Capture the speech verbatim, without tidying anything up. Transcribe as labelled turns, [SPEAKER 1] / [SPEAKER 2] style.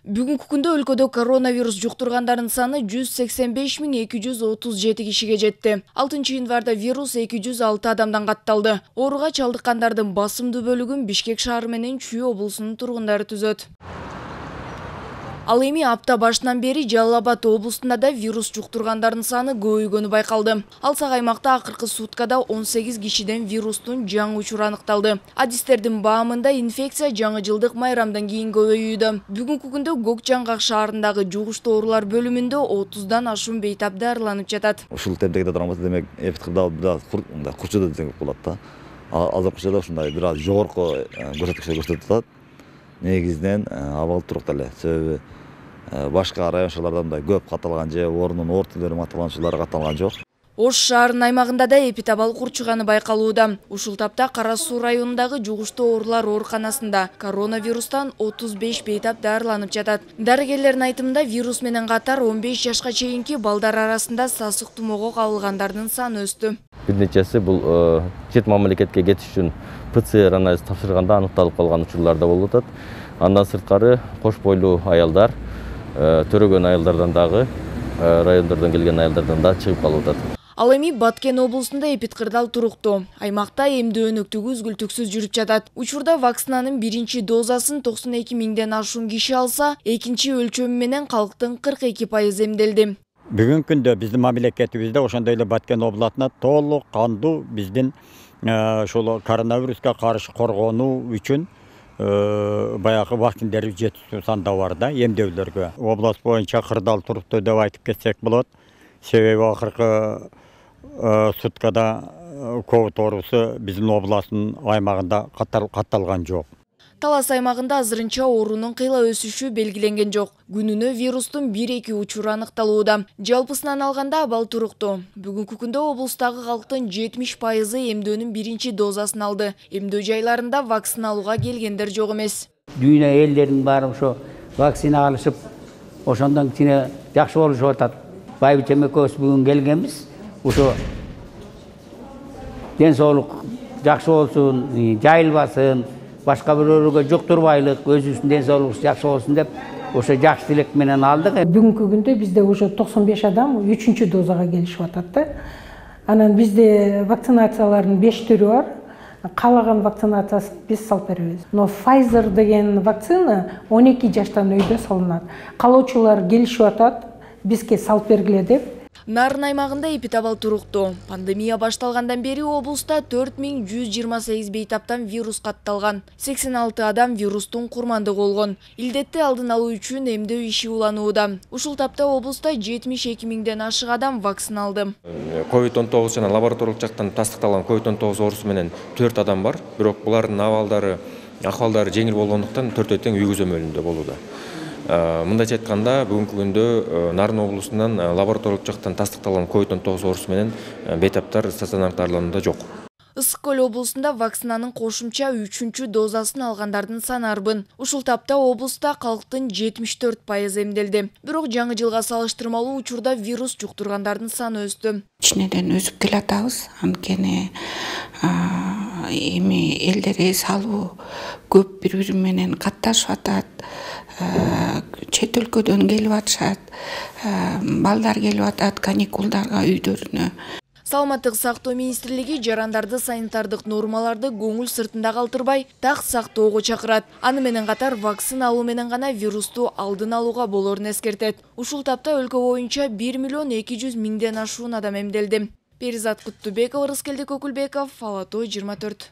[SPEAKER 1] Бүгүнкү күндө өлкөдө коронавирус жуктургандардын саны жүз сексен беш миң эки жүз отуз жети кишиге жетти. алтынчы январда вирус эки жүз алты адамдан катталды. Ооруга чалдыккандардын басымдуу бөлүгүн Бишкек шаары менен Чүй облусунун тургундары түзөт. Ал эми апта башынан бери Жалал Абад облусунда да вирус жуктургандардын саны көбөйгөнү байкалды. Алсак аймакта акыркы суткада он сегиз кишиден вирустун жаңы учуру аныкталды. Адистердин баамында инфекция жаңы жылдык майрамдан кийин көбөйүүдө. Бүгүнкү күндө Көк Жаңгак шаарындагы жугуштуу оорулар бөлүмүндө отуздан ашуун бейтап дарыланып жатат.
[SPEAKER 2] Ушул темдеги турганбыз, демек эпидкырда бир аз курчуду десек болот да. Азыркы учурда ушундай бир аз жогорку көрсөткүчтөр көрсөтүп атат. Негизинен абал туруктуу эле. Себеби башка район шаарларда мындай көп катталган же ордунун ортолору катталган учурлар катталган жок.
[SPEAKER 1] Ош шаарынын аймагында да эпидабал курчуганы байкалууда. Ушул тапта Кара Суу районундагы жугуштуу оорулар ооруканасында коронавирустан отуз беш бейтап дарыланып жатат. Дарыгерлердин айтымында вирус менен катар он беш жашка чейинки балдар арасында сасык тумоого кабылгандардын саны өстү.
[SPEAKER 3] Бир нечеси бул чет мамлекетке кетиш үчүн П Ц Р анализ тапшырганда аныкталып калган учурлар да болуп атат. Андан сырткары кош бойлуу аялдар, төрөгөн аялдардан дагы, райондордон келген аялдардан да чыгып калып атат.
[SPEAKER 1] Ал эми Баткен облусунда эпидкырдал туруктуу. Аймакта эмдөө-өнөктүгү үзгүлтүксүз жүрүп жатат. Учурда вакцинанын биринчи дозасын токсон эки миңден ашуун киши алса, экинчи өлчөмү менен калктын кырк эки пайызы эмделди.
[SPEAKER 4] Бүгүнкү күндө биздин мамлекетибизде ошондой эле Баткен областына толук кандуу биздин ошол коронавируска каршы коргонуу үчүн баягы вакциндер жетиштүү санда бар да, эмдөөлөргө. Область боюнча кырдаал туруктуу деп айтып кетсек болот. Себеби акыркы суткада ковид оорусу биздин областтын аймагында катталган жок.
[SPEAKER 1] Талас аймагында азырынча оорунун кыйла өсүшү белгиленген жок. Күнүнө вирустун бир-эки учуру аныкталууда. Жалпысынан алганда абал туруктуу. Бүгүнкү күндө облустагы калктын жетимиш пайызы эмдөөнүн биринчи дозасын алды. Эмдөө жайларында вакцина алууга келгендер жок эмес.
[SPEAKER 5] Дүйнө элдеринин баары ошо вакцина алышып, ошондон кичине жакшы болушуп атат. Байбичем экөөбүз бүгүн келгенбиз. Ошо ден соолук жакшы болсун, жайылбасын, башка бирөөлөргө жуктурбайлык, өзүбүздүн ден соолугубуз жакшы болсун деп ошо жакшы тилек менен алдык.
[SPEAKER 6] Бүгүнкү күндө бизде уже токсон беш адам үчүнчү дозага келишип атат да. Анан бизде вакцинациялардын беш түрү бар. Каалаган вакцинациясын биз салып беребиз. Но Pfizer деген вакцина он эки жаштан өйдө салынат. Калоочулар келишип атат, бизге салып бергиле деп.
[SPEAKER 1] Нарын аймагында эпидабал туруктуу. Пандемия башталгандан бери облуста төрт миң жүз жыйырма сегиз бейтаптан вирус катталган. сексен алты адам вирустун курмандыгы болгон. Илдетти алдын алуу үчүн эмдөө иши уланууда. Ушул тапта облуста жетимиш эки миңден ашык адам вакцина алды.
[SPEAKER 7] ковид он тогуз жана лабораториялык жактан тастыкталган ковид он тогуз оорусу менен төрт адам бар. Бирок булардын абалдары, акыбалдары жеңил болгондуктан төртөө тең үй көзөмөлүндө болууда. Мындайча айтканда, бүгүнкү күндө Нарын облусунан лабораториялык жактан тастыкталган ковид он тогуз оорусу менен бейтаптар стационардык дарыланууда жок.
[SPEAKER 1] Ысык Көл облусунда вакцинанын кошумча үчүнчү дозасын алгандардын саны арбын. Ушул тапта облуста калктын жетимиш төрт пайызы эмделди. Бирок жаңы жылга салыштырмалуу учурда вирус жуктургандардын саны өстү.
[SPEAKER 8] Кичинеден өсүп келатабыз, анткени эми элдер эс алуу көп бири-бири менен катташып атат. Чет өлкөдөн келип атышат, балдар келип атат каникулдарга үйдөрүнө.
[SPEAKER 1] Саламаттык сактоо министрлиги жарандарды санитардык нормаларды көңүл сыртында калтырбай, так сактоого чакырат. Аны менен катар вакцина алуу менен гана вирусту алдын алууга болорун эскертет. Ушул тапта өлкө боюнча бир миллион эки жүз миңден ашуун адам эмделди. Перизат Куттубекова, Рыскелди Көкүлбеков, Ала Тоо жыйырма төрт.